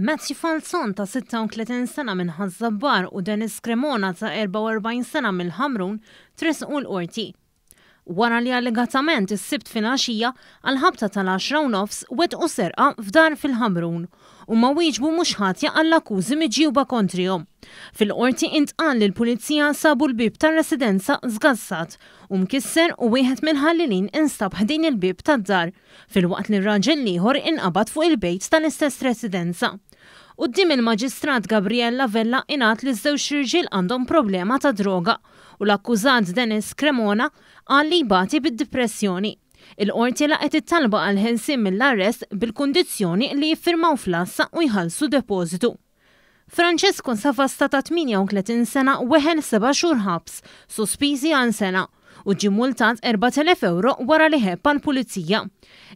Matthew Falzon ta' 36 sena minn Ħaż-Żabbar u Dennis Cremona ta' 44 sena mill-Ħamrun tressqu l-Qorti. Wara li allegatament is-Sibt filgħaxija għall-ħabta tal-għaxra u nofs wettqu serqa f'dar fil-Ħamrun. Huma wieġbu mhux ħatja għall-akkużi miġjuba kontrihom. Fil-Qorti intqal li l-Pulizija sabu l-bieb tar-residenza żgassat u mkisser u wieħed mill-ħallelin instab ħdejn il-bieb tad-dar, filwaqt li r-raġel l-ieħor inqabad fuq il-bejt tal-istess residenza. Quddiem il-Maġistrat Gabriella Vella ingħad li ż-żewġ irġiel għandhom problema ta' droga u l-akkużat Dennis Cremona qal li jbati bid-dipressjoni. Il-Qorti laqgħet it-talba għall-ħelsien mill-arrest bil-kundizzjoni li jiffirmaw fl-għassa u jħallsu depożitu. Francesco Savasta ta' 38 sena weħel seba' xhur ħabs, sospiżi għal sena, u ġie multat 4,000 ewro wara li ħebb għall-Pulizija.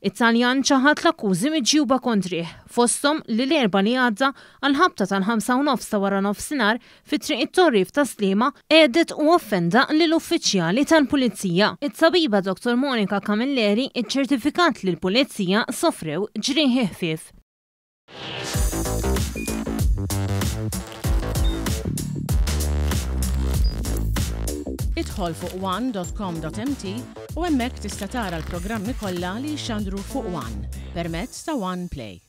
It-Taljan ċaħad l-akkużi miġjuba kontrih, fosthom li l-Erbgħa li għadda għall-ħabta tal-ħamsa u nofs ta' waranofsinhar fi Triq it-Torri f'Tas-Sliema għedet u offenda lil uffiċjali tal-Pulizija. It-tabiba Dottor Monica Camilleri ċċertifikat li l-Pulizija sofrew ġrieħi ħfief. Idħol fuq one.com.mt u hemmhekk tista' tara l-programmi kollha li jixxandru fuq One permezz ta' One Play.